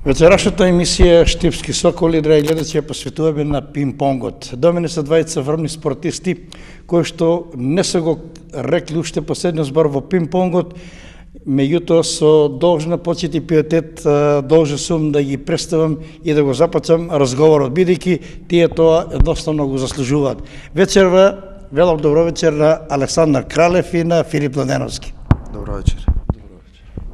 Вечерашната емисија Штипски соколи, драги гледачи, ја посветуваме на пинг-понгот. До мене се двајца врвни спортисти кои што не се го рекли уште последниот збор во пинг-понгот, меѓутоа со должна почит и пиетет должен сум да ги представам и да го започнам разговорот, бидејќи тие тоа едноставно го заслужуваат. Вечерва, велам добро вечер на Александар Кралев и на Филип Младеновски. Добро вечер.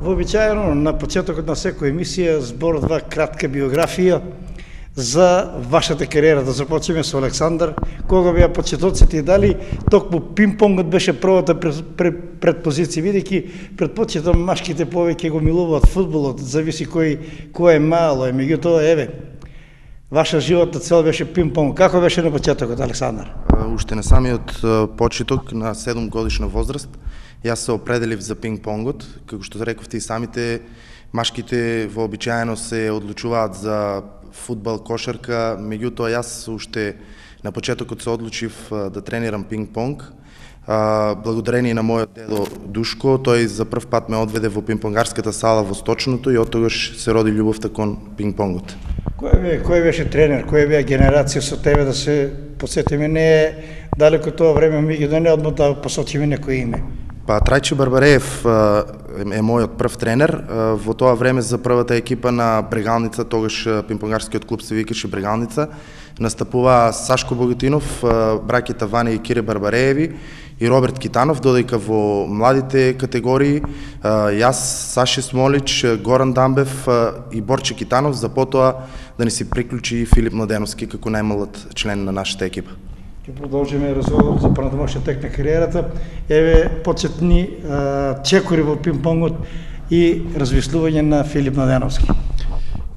Вообичаено на почетокот на секоја емисија зборува кратка биографија за вашата кариера. Да започнеме со Александар. Кога беа почетоците и дали токму пинг-понгот беше првата предпозиција, бидејќи предпочитам машките повеќе го милуваат фудбалот, зависи кој е мало, меѓутоа еве ваша животна цел беше пинг-понг. Како беше на почетокот, Александар? Уште на самиот почеток на 7 годишна возраст јас се определив за пинг-понгот, како што рековте и самите, машките вообичаено се одлучуваат за фудбал, кошарка, меѓутоа јас уште на почетокот се одлучив да тренирам пинг-понг. Благодарение на мојот дедо Душко, тој за прв пат ме одведе во пинг-понгарската сала во Сточното и оттогаш се роди љубовта кон пинг-понгот. Кој беше тренер, која беа генерација со тебе, да се подсетиме, не е далеко тоа време, меѓутоа не одма да посочиме некој име? Па Трајче Барбареев е мојот прв тренер. Во тоа време за првата екипа на Брегалница, тогаш пинг-понгарскиот клуб се викаше Брегалница, настапува Сашко Богатинов, браќата Ваня и Кире Барбарееви и Роберт Китанов, додека во младите категории јас, Саше Смолич, Горан Дамбев и Борче Китанов, за потоа да ни се приклучи Филип Младеновски како најмлад член на нашата екипа. Ќе продолжиме разговор за понатамошниот тек на кариерата. Еве почетни чекори во пинг-понгот и развислување на Филип Младеновски.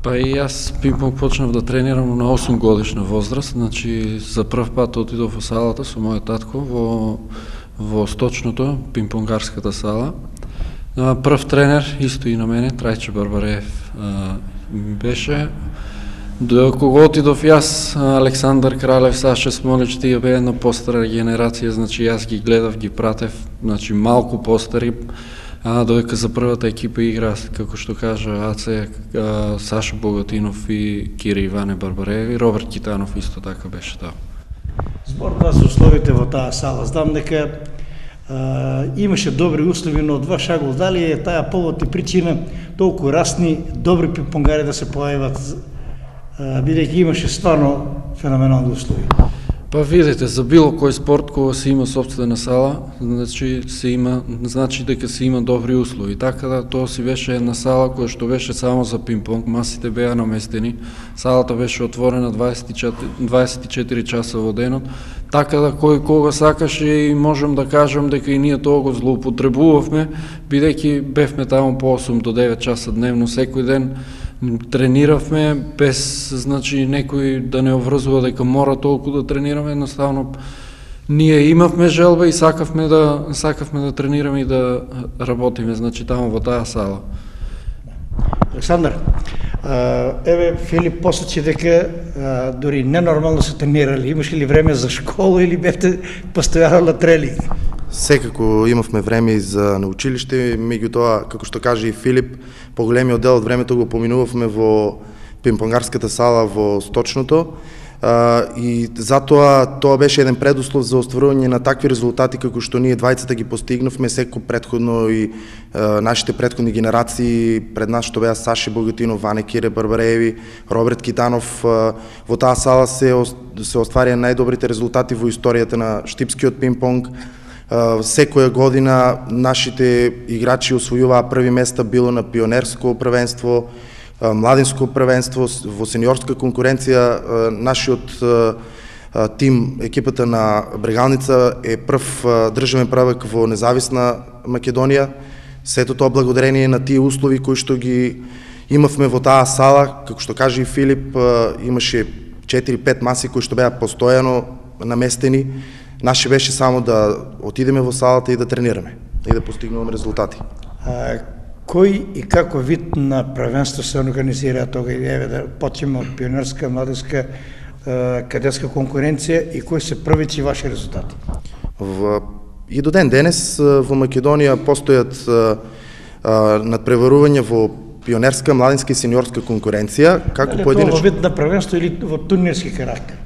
Па и јас пинг-понг почнав да тренирам на 8 годишна возраст, значи за прв пат отидов во салата со мојот татко во Сточното, пинг-понгарската сала. Прв тренер исто и на мене, Трајче Барбареев беше. До кога отидов јас, Александар Кралев, Саша Смолич, тие беа една постара генерација, значи јас ги гледав, ги пратев, значи малку постари, додека за првата екипа игра, како што кажа Аце, Саша Богатинов и Кире Иване Барбарееви, Роберт Китанов исто така беше тоа. Зборува за условите во таа сала. Знам дека имаше добри услови, но од ваш агол, дали е таа повод и причина толку расни добри пинг-понгари да се појават, бидејќи имаше стварно феноменални услови? Па видите, за било кој спорт кога се има сопствена сала, значи дека се има добри услови. Така да тоа си беше една сала која што беше само за пинг-понг, масите беа наместени, салата беше отворена 24 часа во денот, така да кој кога сакаше, и можем да кажам дека и ние тоа го злоупотребувавме, бидејќи бевме таму по 8 до 9 часа дневно секој ден. Трениравме без, значи, некој да не обврзува дека мора толку да тренираме, едноставно ние имавме желба и сакавме да тренираме и да работиме, значи, таму во таа сала. Александар, еве Филип посочи дека дури ненормално се тренирали. Имаше ли време за школа или бевте постојано на тренинг? Секако имавме време и за на училиште, меѓутоа, како што каже и Филип, поголемиот дел од времето го поминувавме во пинг-понгарската сала во Сточното, и затоа тоа беше еден предуслов за остварување на такви резултати како што ние двајцата ги постигнавме, секој предходно и нашите предходни генерации пред нас, што беа Саше Богатинов, Ване Кире Барбарееви, Роберт Китанов. Во таа сала се остварија најдобрите резултати во историјата на штипскиот пинг-понг. Секоја година нашите играчи освојуваа први места, било на пионерско првенство, младинско првенство, во сениорска конкуренција. Нашиот тим, екипата на Брегалница, е прв државен првак во независна Македонија. Сето тоа благодарение на тие услови кои што ги имавме во таа сала. Како што каже и Филип, имаше 4-5 маси кои што беа постојано наместени. Наше беше само да отидеме во салата и да тренираме и да постигнуваме резултати. Кој и како вид на првенство се организира тога? Еве да почнеме од пионерска, младинска, кадетска конкуренција и кои се првите ваши резултати? И до ден денес во Македонија постојат надпреварувања во пионерска, младинска и сениорска конкуренција, како поединечно. Во вид на првенство или во турнирски карактер?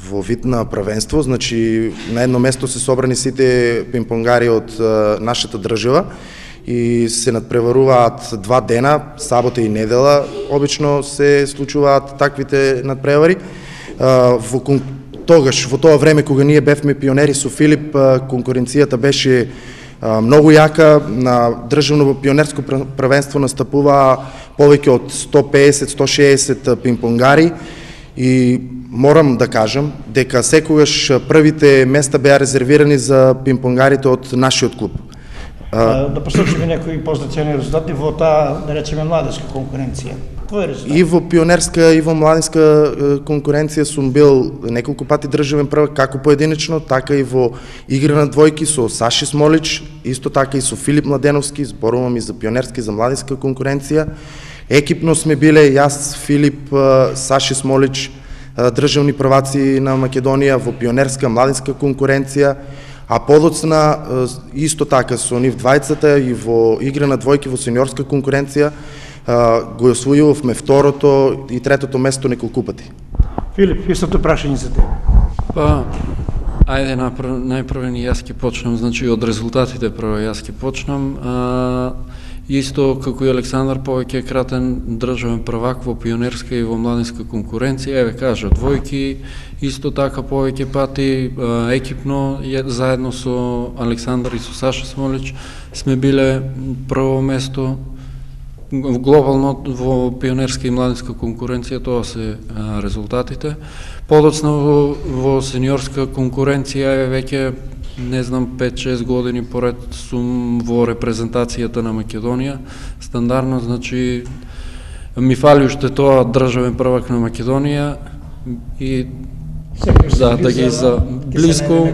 Во вид на првенство, значи на едно место се собрани сите пинг-понгари од нашата држава и се надпреваруваат 2 дена, сабота и недела, обично се случуваат таквите надпревари. Тогаш, во тоа време кога ние бевме пионери со Филип, конкуренцијата беше многу јака. На државно пионерско првенство настапуваа повеќе од 150-160 пинг-понгари и морам да кажам дека секогаш првите места беа резервирани за пинг-понгарите од нашиот клуб. Да посочиме некои позначени резултати во таа, да речеме, младинска конкуренција. Твој резултат? И во пионерска и во младинска конкуренција сум бил неколку пати државен првак, како поединечно, така и во игра на двојки со Саши Смолич, исто така и со Филип Младеновски, зборувам и за пионерска и за младинска конкуренција. Екипно сме биле јас, Филип, Саши Смолич, државни прваци на Македонија во пионерска, младинска конкуренција, а подоцна исто така со нив двајцата и во игра на двојки во сениорска конкуренција го освојувавме второто и третото место неколку пати. Филип, истото прашање за тебе. Па, ајде најпрвен јас ќе почнам, значи од резултатите прво јас ќе почнам. Исто како и Александар, повеќе кратен државен првак во пионерска и во младинска конкуренција, еве кажа, двојки, исто така повеќе пати екипно, заедно со Александар и со Саша Смолич, сме биле прво место глобално во пионерска и младинска конкуренција, тоа се резултатите. Подоцна во сениорска конкуренција, еве веќе не знам, 5-6 години поред сум во репрезентацијата на Македонија. Стандардно, значи, ми фали уште тоа државен првак на Македонија и да ги за близко.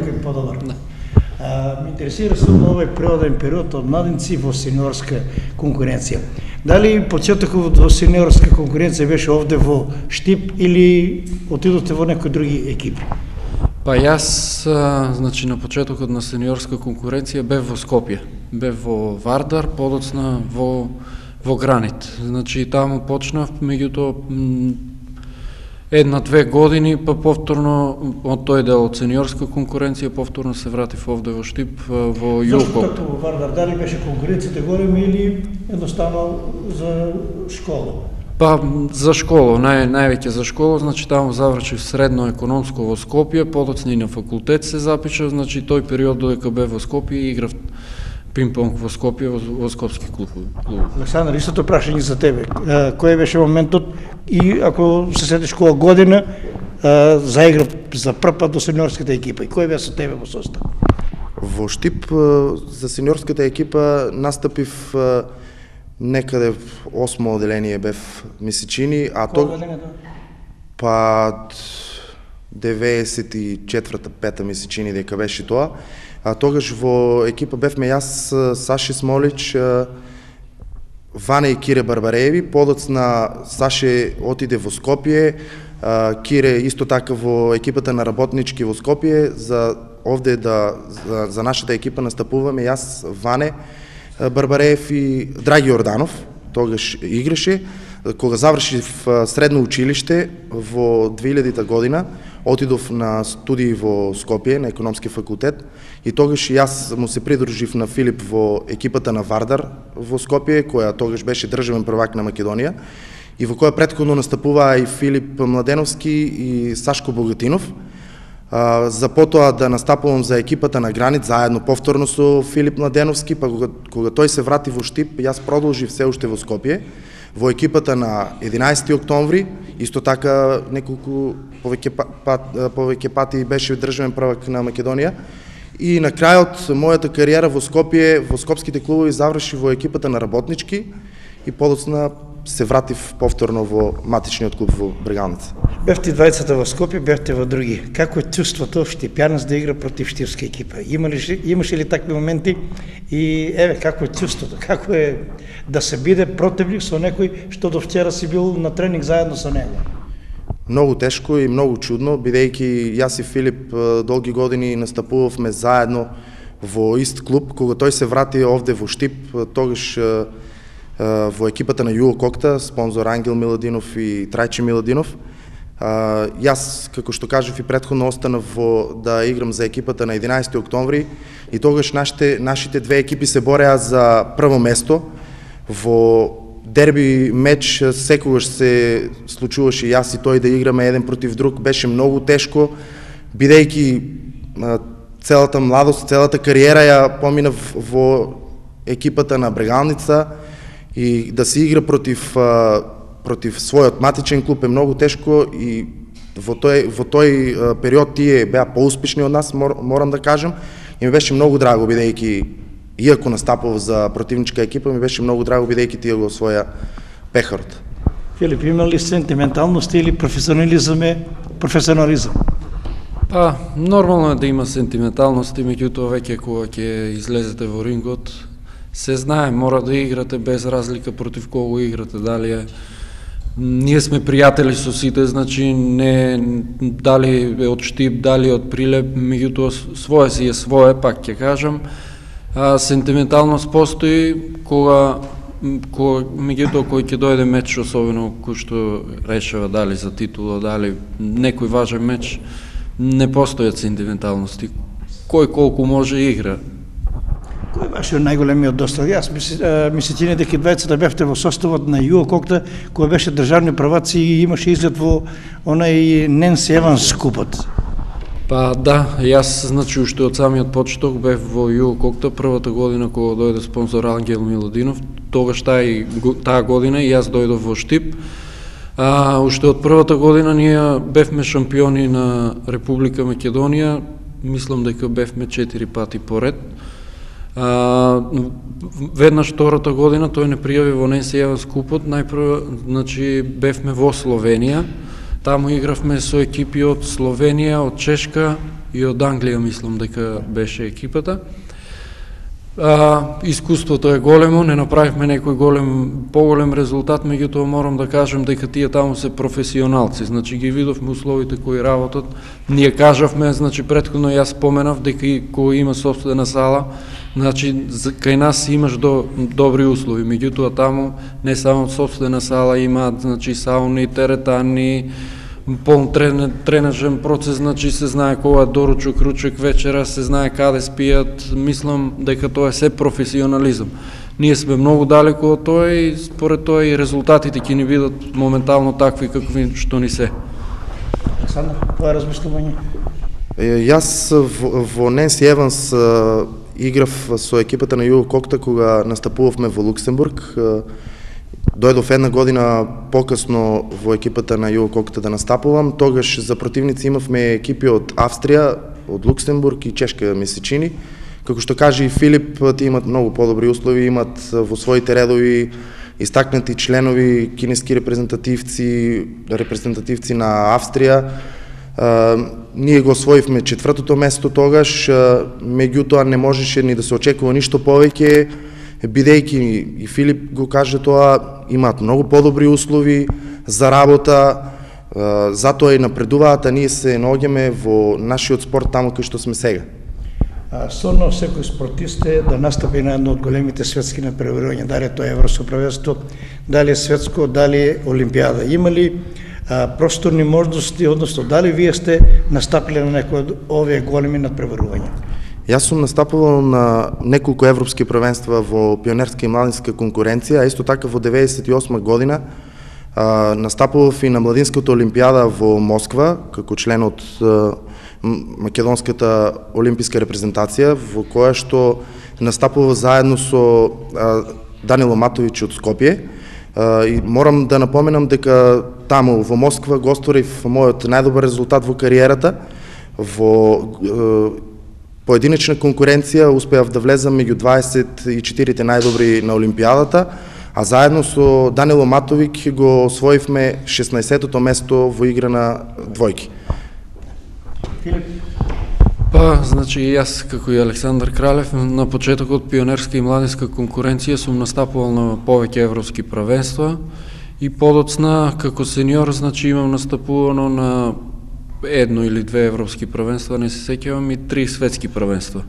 Ме интересира со овој природен период од младинци во сениорска конкуренција. Дали почетокот во сениорска конкуренција беше овде во Штип или отидовте во некои други екипи? Па јас, значи, на почетокот на сениорска конкуренција бев во Скопје, бев во Вардар, подоцна во Гранит. Значи, таму почнав, меѓутоа 1-2 години, па повторно од тој дел од сениорска конкуренција, повторно се вратив овде во Штип, во Јулкоп. Зашто во Вардар, дали беше конкуренцијата голема или едноставно за школа? Па за школа, највеќе за школа, значи таму завршив средно економско во Скопје, подоцна и на факултет се запишав, значи тој период додека бев во Скопје играв пинг-понг во Скопје во скопски клуб. Александар, истото прашање за тебе. Кој беше моментот и ако се сетиш која година заигра за прв пат до сениорската екипа и кој бе со тебе во состав? Во Штип за сениорската екипа настапив некаде в 8-о оделение бев Месичини, а тоа па 94-та Месичини дека беше тоа. А тогаш во екипа бевме јас, Саши Смолич, Ване и Кире Барбарееви, подоцна Саше отиде во Скопје, Кире исто така во екипата на работнички во Скопје, за овде за нашата екипа настапуваме јас, Ване Барбареев и Драги Орданов, тогаш играше. Кога завршив средно училиште во 2000-та година, отидов на студии во Скопје, на економски факултет, и тогаш јас му се придружив на Филип во екипата на Вардар во Скопје, која тогаш беше државен првак на Македонија, и во која претходно настапуваа и Филип Младеновски и Сашко Богатинов. За потоа да настапувам за екипата на Гранит, заедно повторно со Филип Младеновски, па кога тој се врати во Штип, јас продолжив се уште во Скопје, во екипата на 11 октомври, исто така неколку повеќе пати беше државен првак на Македонија. И на крајот мојата кариера во Скопје, во скопските клубови заврши во екипата на работнички и подоцна се вратив повторно во матичниот клуб во Брегалница. Бевте двајцата во Скопје, бевте во други. Како е чувството штипјанец да игра против штипска екипа? Имаше ли такви моменти? И еве, како е чувството? Како е да се биде противник со некој што до вчера си бил на тренинг заедно со него? Многу тешко и многу чудно, бидејќи јас и Филип долги години настапувавме заедно во ист клуб. Кога тој се врати овде во Штип, тогаш во екипата на Југо Кокта, спонзор Ангел Миладинов и Трајче Миладинов. Јас, како што кажав и претходно, останав да играм за екипата на 11 октомври и тогаш нашите две екипи се бореа за прво место. Во дерби меч секогаш се случуваше јас и тој да играме еден против друг. Беше многу тешко, бидејќи целата младост, целата кариера ја поминав во екипата на Брегалница и да се игра против својот матичен клуб е многу тешко и во тој период тие беа поуспешни од нас, морам да кажам, и ми беше многу драго, бидејќи иако настапував за противничка екипа, ми беше многу драго, бидејќи тие го освоја пехарот. Филип, има ли сентименталност или професионализам? Па, нормално е да има сентименталност, и меѓутоа веќе кога ќе излезете во рингот, се знае, мора да играте без разлика против кого играте, дали е. Ние сме пријатели со сите, значи не дали е од Штип, дали од Прилеп, меѓутоа свое си е свое, пак ќе кажам. Сентименталност постои кога меѓутоа кој ќе дојде меч, особено кој што решава дали за титула, дали некој важен меч, не постојат сентименталности. Кој колку може игра. Кој беше најголемиот достиг? Јас ми се чини дека двајцата бевте во составот на Југо Кокта, кој беше државни праваци и имаше изглед во онај Ненси Еванс купот. Па да, јас значи уште од самиот почеток бев во Југо Кокта првата година кога дојде спонзор Ангел Миладинов, тогаш таа година и јас дојдов во Штип. Уште од првата година ние бевме шампиони на Република Македонија, мислам дека бевме 4 пати поред. Веднаш втората година тој не пријави во Ненси Еванс купот, најпрво значи бевме во Словенија, таму игравме со екипи од Словенија, од Чешка и од Англија, мислам дека беше екипата. Искуството е големо, не направивме некој поголем резултат, меѓутоа морам да кажам дека тие таму се професионалци, значи ги видовме условите кои работат. Ние кажавме, значи претходно јас споменав дека кога има сопствена сала, значи кај нас имаш добри услови, меѓутоа таму не само сопствена сала имаат, значи сауни, теретани, полн тренажен процес, значи се знае кога е доручок, ручек, вечера, се знае каде спијат, мислам дека тоа е се професионализам. Ние сме многу далеко од тоа и според тоа и резултатите ќе ни бидат моментално такви какви што ни се. Александар, тоа размислување? Јас во Ненси Еванс играв со екипата на Југо Кокта кога настапувавме во Луксембург. Дојдов една година покасно во екипата на Југо Кокта да настапувам. Тогаш за противници имавме екипи од Австрија, од Луксембург и Чешка, ми се чини. Како што каже и Филип, тие имат многу подобри услови, имат во своите редови истакнати членови, кинески репрезентативци на Австрија. Ние го освоивме 4-то место тогаш, меѓутоа не можеше ни да се очекува ништо повеќе, бидејќи и Филип го каже тоа, имаат многу подобри услови за работа, затоа и напредуваат, а ние се наоѓаме во нашиот спорт таму кај што сме сега. Стvarno секој спортист е да настапи на едно од големите светски надпреварувања, дали тоа е Европско првенство, дали е светско, дали е Олимпијада. Има ли просторни можности, односно дали вие сте настапиле на некој од овие големи надпреварувања? Јас сум настапувал на неколку европски првенства во пионерска и младинска конкуренција, а исто така во 98 година настапував и на младинската олимпијада во Москва, како член од македонската олимписка репрезентација, во која што настапував заедно со Данило Матовиќ од Скопје. И морам да напоменам дека таму во Москва го остворив мојот најдобар резултат во кариерата. Во поединечна конкуренција успеав да влезам меѓу 24 најдобри на олимпијадата, а заедно со Данило Матовиќ го освоивме 16-тото место во игра на двојки. Па, значи јас како и Александар Кралев на почетокот пионерска и младинска конкуренција сум настапувал на повеќе европски првенства и подоцна како сениор, значи имам настапувано на едно или две европски првенства, не се сеќавам, и 3 светски првенства.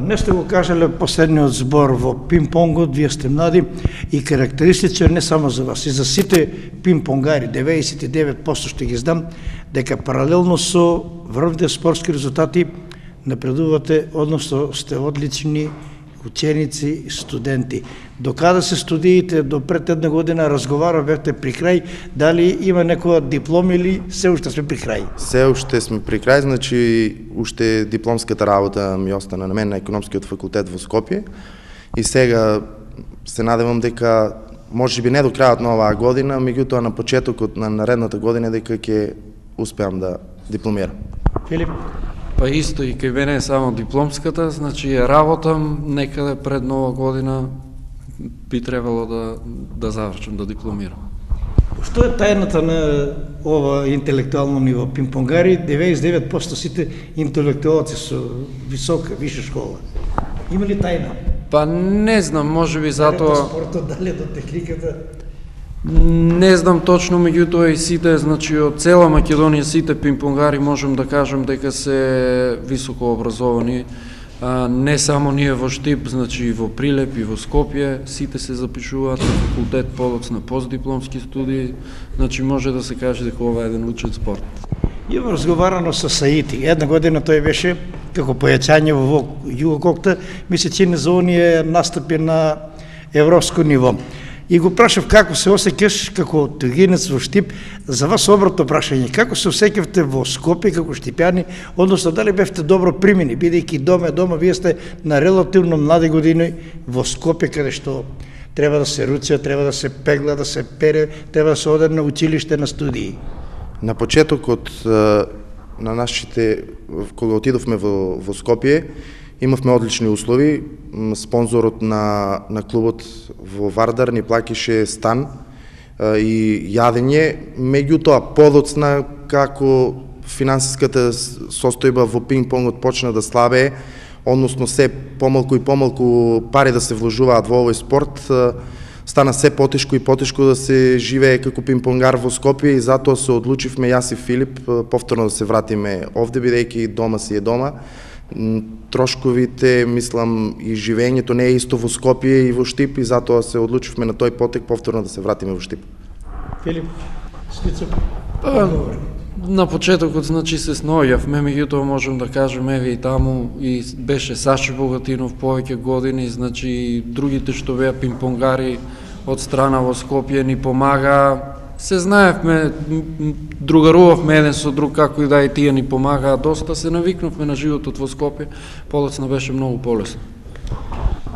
Не сте го кажале последниот збор во пинг-понгот, вие сте млади и карактеристичен не само за вас, и за сите пинг-понгари, 99% што ги знам, дека паралелно со врвните спортски резултати напредувате, односно сте одлични ученици и студенти. Докаде се студиите до пред една година, разговарате при крај, дали има некоја диплома или се уште сме при крај? Се уште сме при крај, значи уште дипломската работа ми остана на мен на економскиот факултет во Скопје и сега се надевам дека можеби не до крајот на оваа година, меѓутоа на почетокот на наредната година дека ќе успеам да дипломирам. Филип? Па исто и кај мене е само дипломската, значи работам некаде пред нова година би требало да завршам, да дипломирам. Што е тајната на ова интелектуално ниво? Пинг-понгари, 99% сите интелектуалци со висока, виша школа. Има ли тајна? Па не знам, можеби затоа... Дали до спортот, дали до техниката? Не знам точно, меѓутоа и сите, значи од цела Македонија сите пинг-понгари можем да кажем дека се високо образовани. Не само ние во Штип, значи и во Прилеп и во Скопје, сите се запишуваат на факултет подоцна постдипломски студии, значи може да се каже дека ова е еден учен спорт. Има разговарано со Саити. Една година тој беше како појачање во Југококта, ми се чини за оние настапи на европско ниво. И го прашав како се осеќаш како тугинец во Штип, за вас обратно прашање, како се осеќавте во Скопје како штипјани, односно дали бевте добро примени, бидејќи дома вие сте на релативно млади години во Скопје, каде што треба да се руча, треба да се пегла, да се пере, треба да се оде на училиште на студии. На почетокот на нашите, кога отидовме во Скопје, имавме одлични услови. Спонзорот на клубот во Вардар ни плаќаше стан и јадење, меѓутоа подоцна како финансиската состојба во пинг-понгот почна да слабее, односно се помалку и помалку пари да се вложуваат во овој спорт, стана се потешко и потешко да се живее како пинг-понгар во Скопје и затоа се одлучивме јас и Филип повторно да се вратиме овде, бидејќи дома си е дома. Трошковите, мислам, и живењето не е исто во Скопје и во Штип и затоа се одлучивме на тој потек повторно да се вратиме во Штип. Филип, скицо? На почетокот, значи, се снојавме, меѓутоа можем да кажем, еве и таму, и беше Саши Богатинов повеќе години, значи, другите што беа пинг-понгари од страна во Скопје ни помага. Се знаевме, другарувавме еден со друг, како и да и тие ни помагаа доста, се навикнувме на животот во Скопје, подоцна беше многу полесно.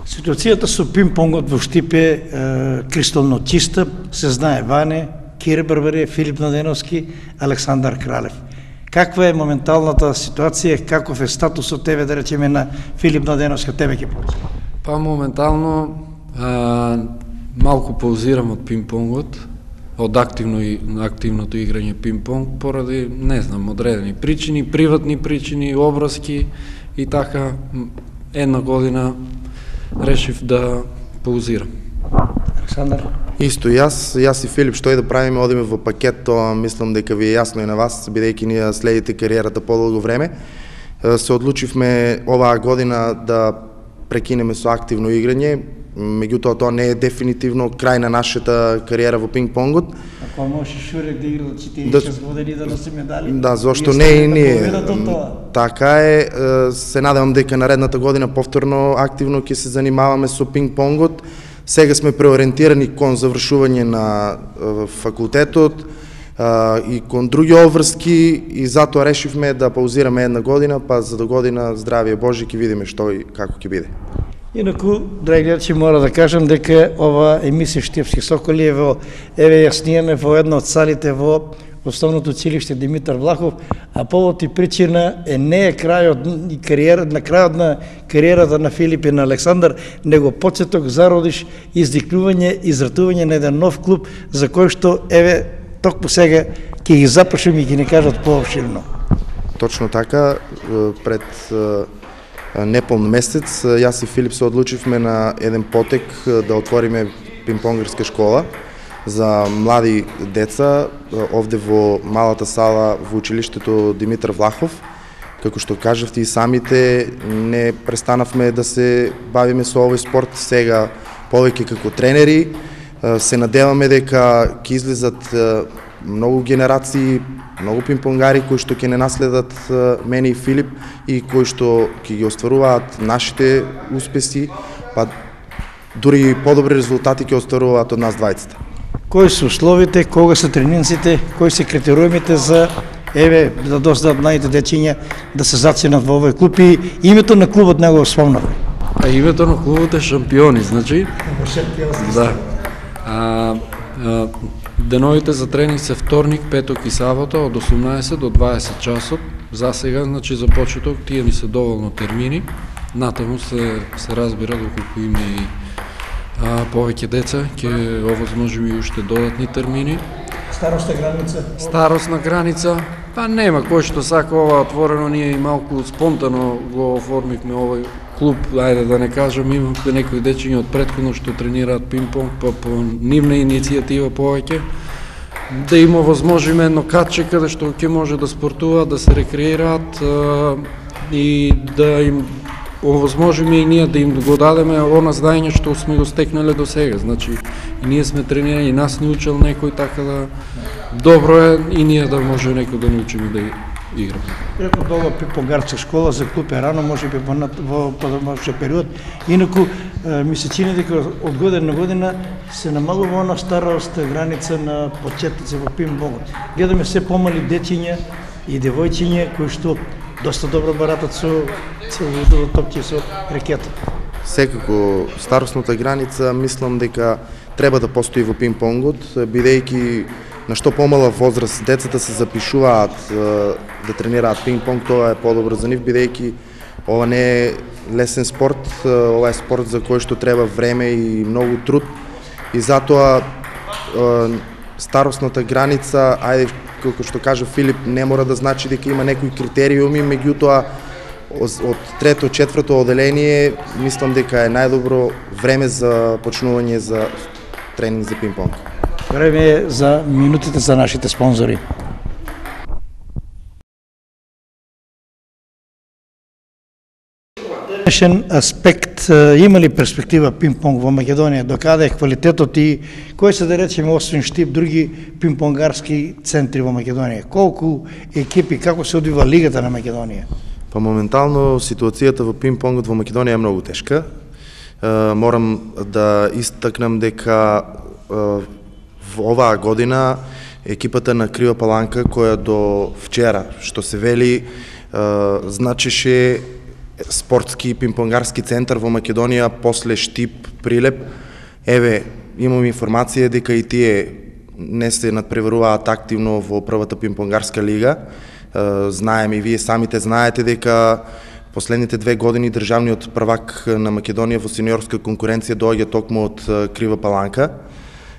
Ситуацијата со пинг-понгот во Штип е кристално чиста, се знае Ване, Кире Барбарија, Филип Младеновски, Александар Кралев. Каква е моменталната ситуација, каков е статусот тебе, да речеме, на Филип Младеновски, тебе ќе почне? Па моментално малку паузирам од пинг-понгот, од активното играње пинг-понг, поради, не знам, одредени причини, приватни причини, образки и така една година решив да паузирам. Александар? Исто јас и Филип, што и да правиме, одиме во пакет, тоа мислам дека ви е јасно и на вас, бидејќи ние следите кариерата подолго време. Се одлучивме оваа година да прекинеме со активно играње, меѓутоа тоа не е дефинитивно крај на нашата кариера во пинг-понгот. Ако може Шурек да игра 46 години да носи медали? Да, зошто не и ние. Така е, се надевам дека наредната година повторно активно ќе се занимаваме со пинг-понгот. Сега сме преориентирани кон завршување на факултетот и кон други обврски и затоа решивме да паузираме една година, па за до година, здравие Божи, ќе видиме што и како ќе биде. Инаку, драги гледачи, мора да кажам дека ова емисија Штипски соколи е во, еве ја снимаме во една од салите во Основното училиште Димитар Влахов, а повод и причина не е крајот на кариерата на Филип и на Александар, него почеток, зародиш, издикнување, изратување на еден нов клуб за кој што, еве, токму сега ќе ги запрашам и ќе ни кажат пообширно. Точно така, пред неполн месец, јас и Филип се одлучивме на еден потек да отвориме пинг-понгарска школа за млади деца овде во малата сала во училиштето Димитар Влахов. како што кажавте и самите, не престанавме да се бавиме со овој спорт сега повеќе како тренери. Се надеваме дека ќе излезат многу генерации, многу пинг-понгари кои што ќе не наследат мене и Филип и кои што ќе ги остваруваат нашите успеси, па дури подобри резултати ќе остваруваат од нас двајцата. Кои се условите, кога се тренинците, кои се критериумите за да досадат младите дечиња да се заценат во овој клуб и името на клубот не го спомнавме? Името на клубот е Шампиони, значи. Да. Деновите за тренинг се вторник, петок и сабота од 18 до 20 часот. За сега, значи за почеток, тие ни се доволно термини. Натаму се разбира доколку има и повеќе деца, ќе овозможиме и уште додатни термини. Старосна граница? Старосна граница, па нема кој што сака ова отворено, ние и малку спонтано го оформивме овој клуб, ајде да не кажам, имаме некои дечиња од претходно што тренираат пинг-понг, па по нивна иницијатива повеќе, да им овозможиме едно катче каде што ќе може да спортуваат, да се рекреираат и да им овозможиме и ние да им го дадеме она знаење што сме го стекнале до сега. Значи, и ние сме тренирани, и нас не учел некој, така да добро е и ние да може некој да научиме да играме. Инаку долга пинг-понгарска школа за клуб е рано, може би во подомашен период. Инаку ми се чини дека од година на година се намалува она староста граница на почетници во пинг-понгот. Гледаме се помали дечиња и девојчиња кои што доста добро баратат со топки, со рекета. Секако старосната граница мислам дека треба да постои во пинг-понгот, бидејќи на што помала возраст децата се запишуваат да тренираат пинг-понг, тоа е подобро за нив, бидејќи ова не е лесен спорт, ова е спорт за кој што треба време и многу труд и затоа старосната граница, ајде како што кажа Филип, не мора да значи дека има некои критериуми, меѓутоа од трето, четврто оделение мислам дека е најдобро време за почнување за тренинг за пинг-понг. Време е за минутите за нашите спонзори. Денешен аспект, има ли перспектива пинг-понг во Македонија? Докаде е квалитетот и кои се да речеме освен Штип други пинг-понгарски центри во Македонија? Колку екипи, како се одвива лигата на Македонија? Па моментално ситуацијата во пинг-понгот во Македонија е многу тешка. Морам да истакнам дека во оваа година екипата на Крива Паланка, која до вчера, што се вели, значеше спортски пинг-понгарски центар во Македонија после Штип, Прилеп. Еве, имам информација дека и тие не се надпреваруваат активно во првата пинг-понгарска лига. Знаеме и вие самите знаете дека последните 2 години државниот првак на Македонија во сениорска конкуренција доаѓа токму од Крива Паланка,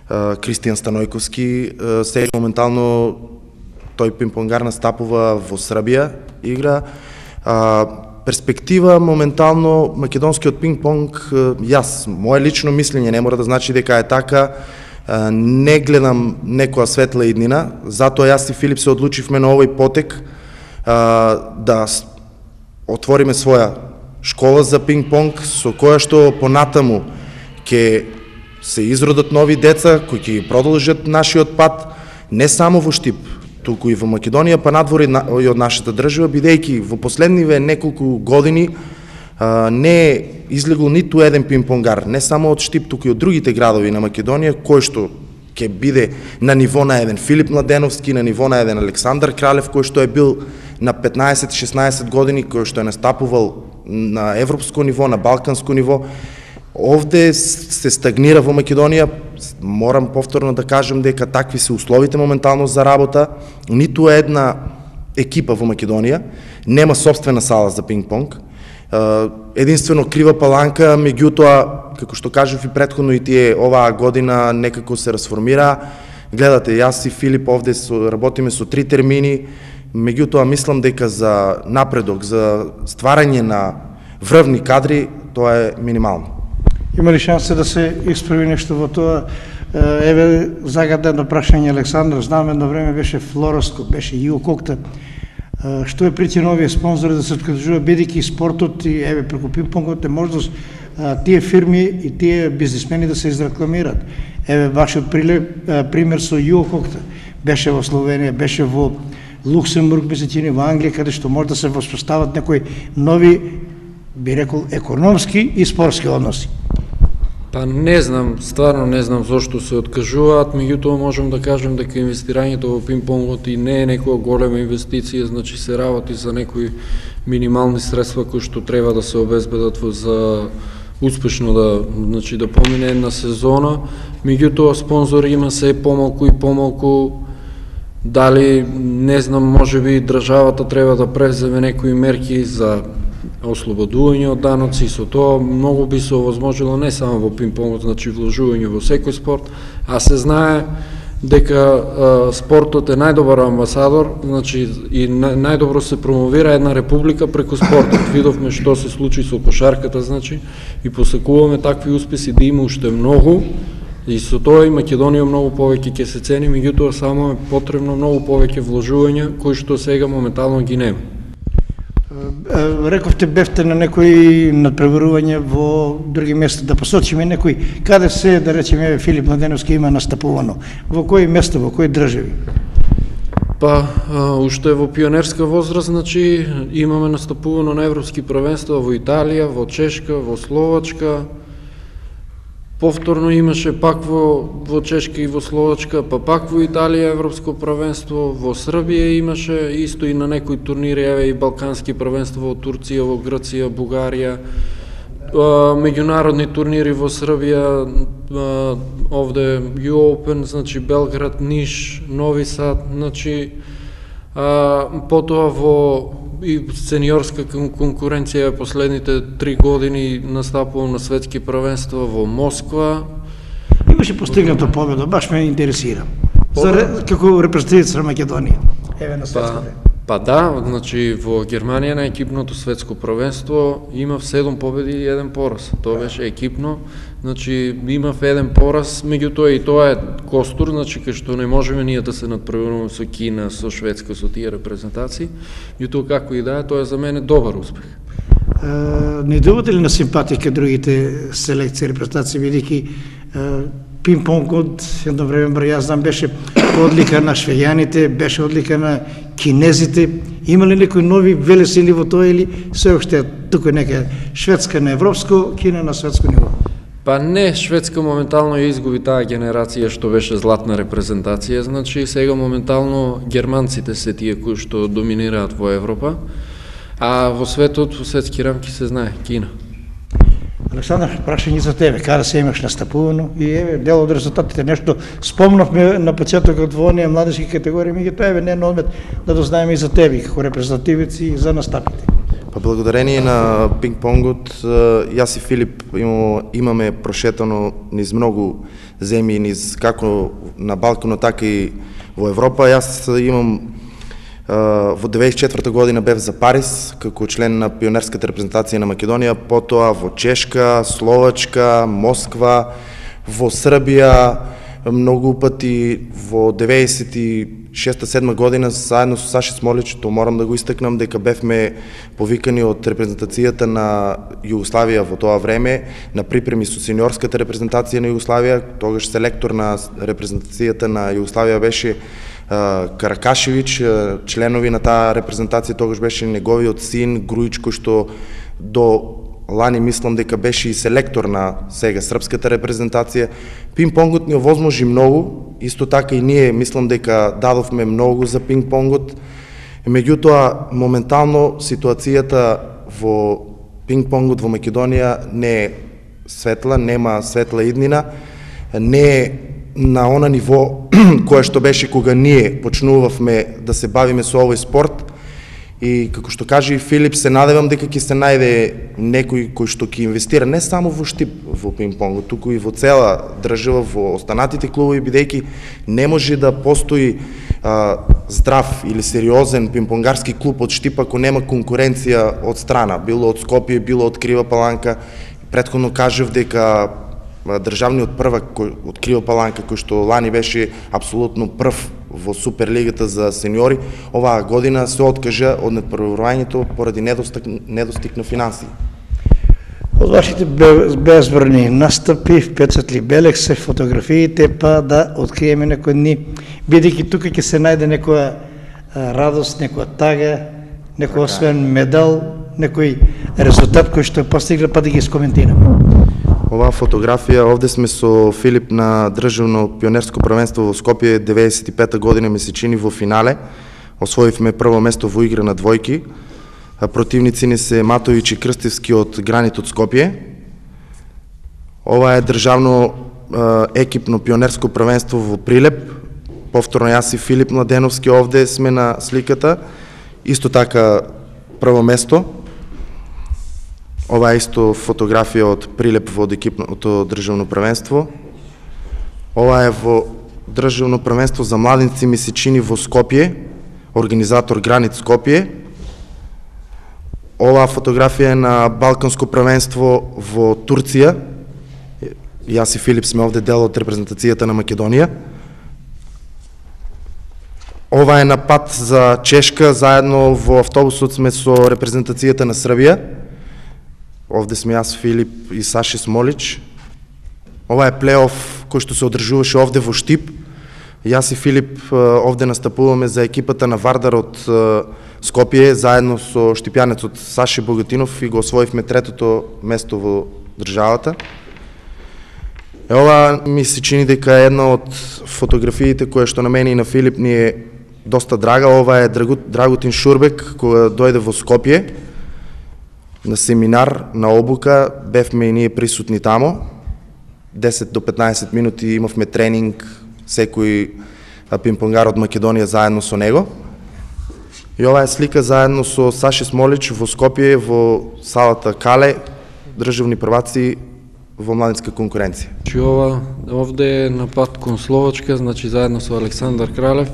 Кристијан Станојковски. Сега моментално тој пинг-понгар настапува во Србија, игра. Перспектива моментално македонскиот пинг-понг, јас, моje лично мислење, не мора да значи дека е така, не гледам некоја светла иднина, затоа јас и Филип се одлучивме на овој потек да отвориме своја школа за пинг-понг, со која што понатаму ќе се изродат нови деца кои ќе продолжат нашиот пат не само во Штип, туку и во Македонија, па надвор и од нашата држава, бидејќи во последниве неколку години не е излегол ниту еден пинг-понгар, не само од Штип, туку и од другите градови на Македонија, кој што ќе биде на ниво на еден Филип Младеновски, на ниво на еден Александар Кралев, кој што е бил на 15-16 години, кој што е настапувал на европско ниво, на балканско ниво. Овде се стагнира во Македонија, морам повторно да кажам дека такви се условите моментално за работа. Ниту една екипа во Македонија нема собствена сала за пинг-понг. Единствено Крива Паланка, меѓутоа, како што кажав и претходно и тие оваа година некако се расформира. Гледате, јас и Филип овде работиме со 3 термини, меѓутоа мислам дека за напредок, за стварање на врвни кадри, тоа е минимално. Има ли шанса да се исправи нешто во тоа? Еве загадено прашање Александар, знам едно време беше Флороско, беше Јуо Кокта. Што е причина овие спонзори да се откажуваат, бидејќи спортот и еве преку пинг-понгот е можност тие фирми и тие бизнисмени да се изрекламират. Еве вашиот пример со Юококта беше во Словенија, беше во Луксембург, мислам, во Англија, каде што може да се воспостават некои нови, би рекол, економски и спортски односи. Па не знам, стварно не знам зошто се откажуваат, меѓутоа можам да кажем дека инвестирањето во пинг-понгот и не е некоја голема инвестиција, значи се работи за некои минимални средства кои што треба да се обезбедат за успешно да помине една сезона, меѓутоа спонзори има се помалку и помалку. Дали, не знам, можеби државата треба да преземе некои мерки за ослободување од даноци, со тоа многу би се овозможило не само во пинг-понгот, значи вложување во секој спорт, а се знае дека спортот е најдобар амбасадор, значи и најдобро се промовира една република преку спортот. Видовме што се случи со кошарката, значи, и посекуваме такви успеси да има уште многу, и со тоа и Македонија многу повеќе ќе се цени, меѓутоа само е потребно многу повеќе вложувања кои што сега моментално ги нема. Рековте бевте на некои надпреварување во други места, да посочиме некои каде се, да речеме, Филип Младеновски има настапувано, во кои места, во кои држави? Па, уште во пионерска возраст, значи, имаме настапувано на европски првенства во Италија, во Чешка, во Словачка. Повторно имаше пак во Чешка и во Словачка, па пак во Италија европско првенство, во Србија имаше исто и на некои турнири, еве и балкански првенства во Турција, во Грција, Бугарија, меѓународни турнири во Србија, овде U-Open, значи Белград, Ниш, Нови Сад, значи потоа во и сениорска конкуренција последните 3 години настапувам на светски првенства во Москва. Имаше постигната победа, баш ме интересира. Како репрезентативец на Македонија, еве на светското. Па да, значи во Германија на екипното светско првенство имав 7 победи и 1 пораз. Тоа беше екипно, значи имав 1 пораз, меѓутоа и тоа е костур, значи кај што не можеме ние да се надпреваруваме со Кина, со Шведска, со тие репрезентации, меѓутоа како и да е, тоа е за мене добар успех. Не добивате ли на симпатија кај другите селекции, репрезентации, бидејќи пинг-понгот едно време, јас знам, беше одлика на швејаните, беше одлика на кинезите. Има ли некои нови велесили во тоа или се уште тука нека Шведска на европско, Кина на светско ниво? Па не, Шведска моментално ја изгуби таа генерација што беше златна репрезентација, значи сега моментално германците се тие кои што доминираат во Европа, а во светот, во светски рамки се знае, Кина. Александар, прашање за тебе, каде се имаш настапувано и еве дел од резултатите, нешто спомнавме на почетокот во оние младежки категории, меѓутоа еве не на одмет да дознаеме и за тебе како репрезентативец и за настапите. Па благодарение на пинг-понгот, јас и Филип имаме прошетано низ многу земји, низ како на Балканот, така и во Европа. Јас имам во 94 година бев за Париз како член на пионерската репрезентација на Македонија, потоа во Чешка, Словачка, Москва, во Србија, многу пати во 96-7 година заедно со Саши Смолич, то морам да го истакнам дека бевме повикани од репрезентацијата на Југославија во тоа време на припреми со сениорската репрезентација на Југославија. Тогаш селектор на репрезентацијата на Југославија беше Каракашевич, членови на таа репрезентација тогаш беше неговиот син Груич, кој што до лани мислам дека беше и селектор на сега српската репрезентација. Пинг-понгот ни овозможи многу, исто така и ние мислам дека дадовме многу за пинг-понгот. Меѓутоа, моментално ситуацијата во пинг-понгот во Македонија не е светла, нема светла иднина, не е на она ниво кое што беше кога ние почнувавме да се бавиме со овој спорт. И како што каже и Филип, се надевам дека ќе се најде некој кој што ќе инвестира не само во Штип во пинг-понгот, туку и во цела држава, во останатите клубови, бидејќи не може да постои здрав или сериозен пинг-понгарски клуб од Штип ако нема конкуренција од страна, било од Скопје, било од Крива Паланка. Претходно кажав дека државниот првак од Крива Паланка, кој што лани беше апсолутно прв во Суперлигата за сениори, оваа година се откажа од надпреварувањето поради недостиг на финанси. Од вашите безбройни настапи, впечатли белек се фотографиите, па да откриеме некои дни, бидејќи тука ќе се најде некоја радост, некоја тага, некој освен медал, некој резултат кој што е постигнал, па да ги скоментираме. Оваа фотографија, овде сме со Филип на државно пионерско првенство во Скопје 95-та година месечини во финале. Освоивме прво место во игра на двојки. Противници ни се Матович и Крстевски од Гранит од Скопје. Ова е државно екипно пионерско првенство во Прилеп. Повторно јас и Филип Младеновски овде сме на сликата. Исто така прво место. Ова е исто фотографија од Прилеп во екипното државно првенство. Ова е во државно првенство за младинци месечини во Скопје, организатор Гранит Скопје. Оваа фотографија е на Балканско првенство во Турција. Јас и Филип сме овде дел од репрезентацијата на Македонија. Ова е на пат за Чешка, заедно во автобусот сме со репрезентацијата на Србија. Овде сме јас, Филип и Саши Смолич. Ова е плейоф кој што се одржуваше овде во Штип. Јас и Филип овде настапуваме за екипата на Вардар од Скопје, заедно со штипјанецот Саши Богатинов и го освоивме третото место во државата. Ова ми се чини дека е една од фотографиите која што на мене и на Филип ни е доста драга. Ова е Драгутин Шурбек, кога дојде во Скопје на семинар, на обука, бевме и ние присутни тамо. 10 до 15 минути имавме тренинг, секој пинг-понгар од Македонија заедно со него. И ова е слика заедно со Саши Смолич во Скопје, во салата Кале, државни прваци во младинска конкуренција. Ова овде е на пат кон Словачка, значи заедно со Александар Кралев.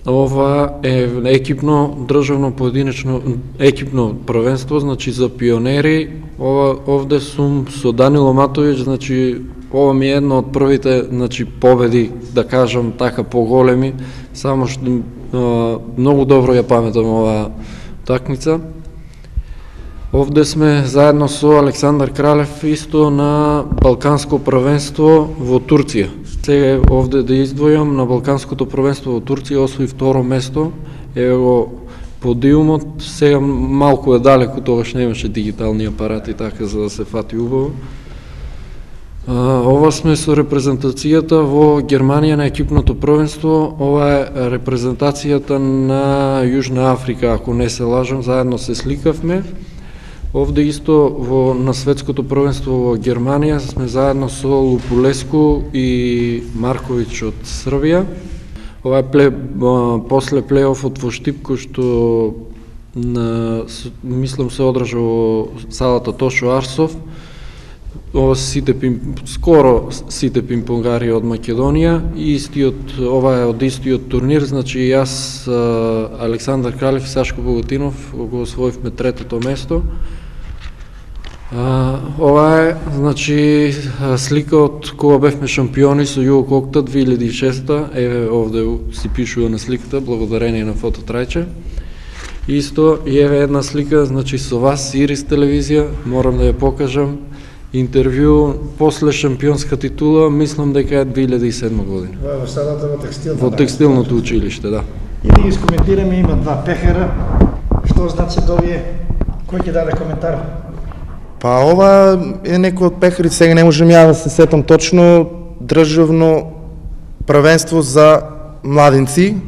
Ова е екипно државно поединечно екипно првенство, значи за пионери. Овде сум со Данило Матович, значи ова ми е една од првите, значи победи, да кажам така поголеми, само што многу добро ја паметам оваа такмица. Овде сме заедно со Александар Кралев исто на Балканско првенство во Турција. Сега овде да издвојам, на Балканското првенство во Турција освои второ место. Еве го подиумот, сега малку е далеку, тогаш немаше дигитални апарати така за да се фати убаво. Ова сме со репрезентацијата во Германија на екипното првенство. Ова е репрезентацијата на Јужна Африка, ако не се лажам, заедно се сликавме. Овде исто на светското првенство во Германија сме заедно со Лупулеску и Марковиќ од Србија. Ова е после плейофот во Штип, кој што мислам се одржа во салата Тошо Арсов. Ова скоро сите пинг-понгари од Македонија и ова е од истиот турнир, значи јас, Александар Кралев и Сашко Богатинов го освоивме третото место. Ова е, значи, слика од кога бевме шампиони со Југо Кокта 2006-та, еве овде си пишува на сликата, благодарение на Фототрајче. Исто, и еве една слика, значи, со вас, Ирис телевизија, морам да ја покажам, интервју после шампионска титула, мислам дека е 2007 година. Во салата во текстилната. Во текстилното училиште, да. И да ги скоментираме, има два пехара. Што значи овие? Кој ќе даде коментар? Па ова е некој од пехарите, сега не можам ја да се сетам точно, државно првенство за младинци.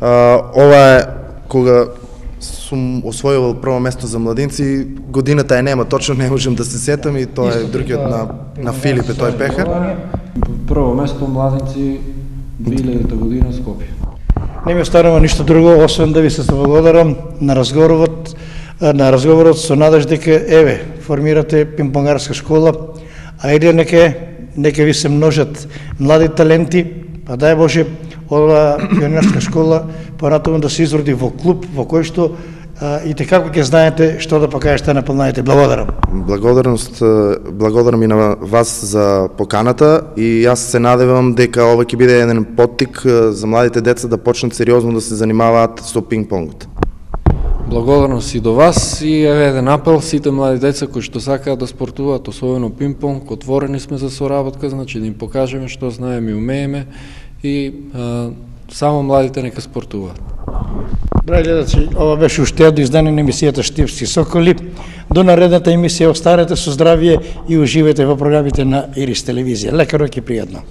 Ова е кога сум освојувал прво место за младинци, годината е нема, точно не можам да се сетам и тоа е другиот на Филип е тој пехар. Прво место младинци 2000 година Скопје. Не ми останува ништо друго, освен да ви се благодарам на разговорот со надеж дека еве формирате пинг-понгарска школа, а или нека ви се множат млади таленти, па дај Боже оваа пионерска школа понатаму да се изроди во клуб во кој што и како ќе знаете што да покажете на помладите. Благодарам. Благодарам и на вас за поканата и јас се надевам дека ова ќе биде еден поттик за младите деца да почнат сериозно да се занимаваат со пинг-понгот. Благодарност и до вас и еве еден апел сите млади деца кои што сакаат да спортуваат, особено пинг-понг, отворени сме за соработка, значи да им покажеме што знаеме и умееме и само младите нека спортуваат. Драги гледачи, ова беше уште едно издание на емисијата Штипски соколи. До наредната емисија останете со здравје и уживајте во програмите на Ирис телевизија. Лека ноќ и пријатно.